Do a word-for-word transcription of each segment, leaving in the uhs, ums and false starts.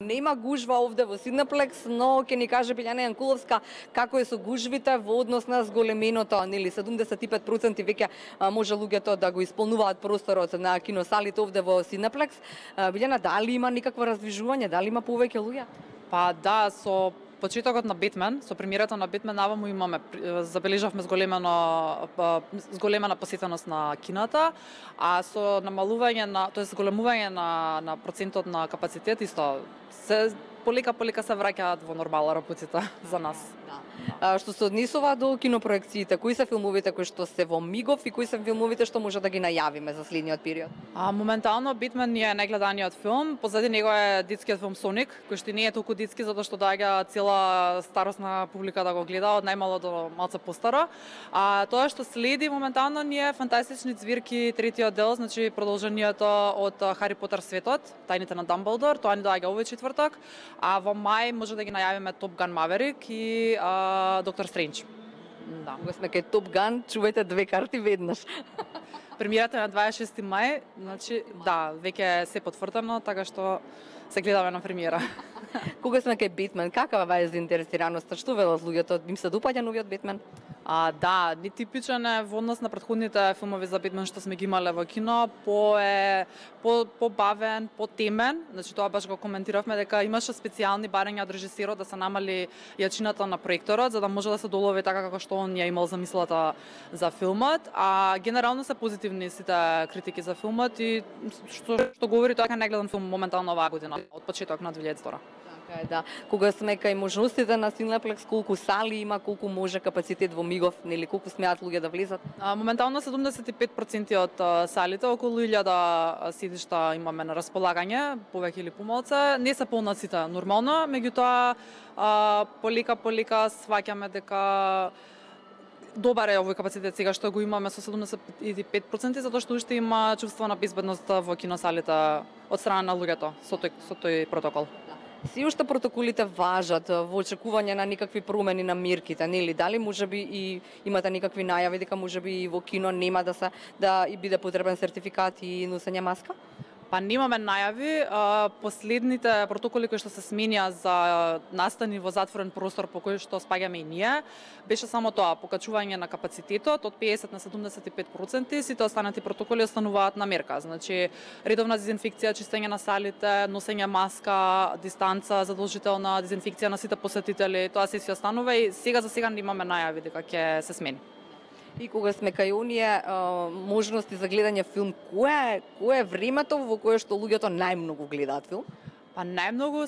Нема гужва овде во Синеплекс, но ќе ни каже Билјана Јанкуловска како е со гужвите во однос на зголеменото, нели седумдесет и пет проценти веќе може луѓето да го исполнуваат просторот на киносалите овде во Синеплекс. Билјана, дали има никакво раздвижување, дали има повеќе луѓе? Па да, со почетокот на Бетмен, со премиерата на Бетмен наваму имаме забележавме зголемено зголемена посетеност на кината, а со намалување на, тоест зголемување на на процентот на капацитет исто се полека полека се враќаат во нормала работите за нас. Да. А, што се однесува до кинопроекциите, кои се филмовите кои што се во мигов и кои се филмовите што може да ги најавиме за следниот период? А моментално Бетмен е најгледаниот филм, позади него е детскиот филм Соник, кој што не е толку детски затоа што доаѓа цела старосна публика да го гледа, од најмало до малце постаро. А тоа што следи моментално ни е Фантастични ѕвирки третиот дел, значи продолжението од Хари Потер светот, тајните на Дамблдор, тоа ни доаѓа овој четврток. А во мај може да ги најавиме Топ Ган Маверик и а, Доктор Стрендж. Да. Кога сме кај Топ Ган, чувајте две карти веднаш. Премиерата е на дваесет и шести мај, значи да, веќе се потврдено, така што се гледаме на премиера. Кога сме кај Бетмен, какава е заинтересираноста? Што велат луѓето? Им се допаѓа новиот Бетмен? А, да, нетипичен е во однос на претходните филмови за Бетмен што сме ги имале во кино, по е по побавен, потемен, значи тоа баш го коментиравме дека имаше специјални барања од режисерот да се намали јачината на проекторот за да може да се долови така како што он ја имал замислата за филмот, а генерално се позитивни сите критики за филмот и што што говори тоа дека најгледан филм моментално оваа година од почеток на две илјади и втора. Така е, да. Кога сме кај можностите на Синеплекс, колку сали има, колку може капацитет во мигов, нели колку смеат луѓе да влезат? А, моментално седумдесет и пет проценти од салите, околу илјада седишта имаме на располагање, повеќе или помалку. Не се полна сите нормално, меѓутоа полека полека сваќаме дека добар е овој капацитет сега што го имаме со седумдесет и пет проценти затоа што уште има чувство на безбедност во киносалите од страна на луѓето со тој со тој протокол. Си уште протоколите важат во очекување на никакви промени на мерките, нели? Дали можеби и имате никакви најави дека можеби и во кино нема да се да и биде потребен сертификат и носење маска? Па немаме најави, последните протоколи кои што се сменија за настани во затворен простор по кој што спаѓаме и ние, беше само тоа, покачување на капацитетот од педесет на седумдесет и пет проценти, сите останати протоколи остануваат на мерка, значи редовна дезинфекција, чистење на салите, носење маска, дистанца, задолжителна дезинфекција на сите посетители, тоа се си останува и сега за сега немаме најави дека ќе се смени. И кога сме кај оние можности за гледање филм, кое е, кое е времето во кое што луѓето најмногу гледаат филм? Па најмногу,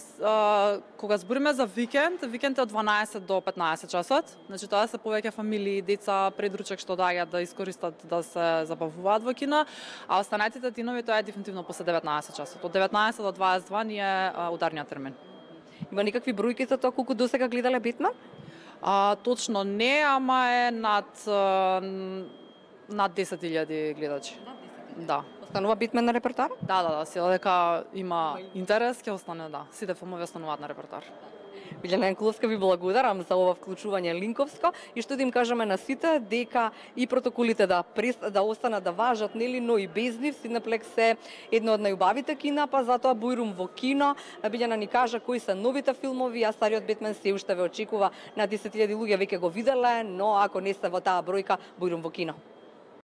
кога збориме за викенд, викенд е од дванаесет до петнаесет часот, значи тоа се повеќе фамилии, деца, предручек што доаѓаат да искористат да се забавуваат во кино, а останатите денови тоа е дефинитивно после деветнаесет часот. Од деветнаесет до дваесет и два ни е ударниот термин. Има никакви бројки за тоа колку досега гледале Бетмен? А, точно не, ама е над над десет илјади гледачи. Да. Останува Бетмен на репертоар? Да, да, да, сега дека има интерес, ќе остане, да. Сите филмови остануваат на репертоар. Билјана Јанкуловска, ви благодарам за ова вклучување линковско и што да им кажеме на сите дека и протоколите да прест, да останат да важат, нели, но и без нив. Синеплекс е едно од најубавите кина, па затоа бујрум во кино. Билјана ни кажа кои се новите филмови, а стариот Бетмен се уште ве очекува. На десет илјади луѓе веќе го виделе, но ако не сте во таа бројка, бујрум во кино.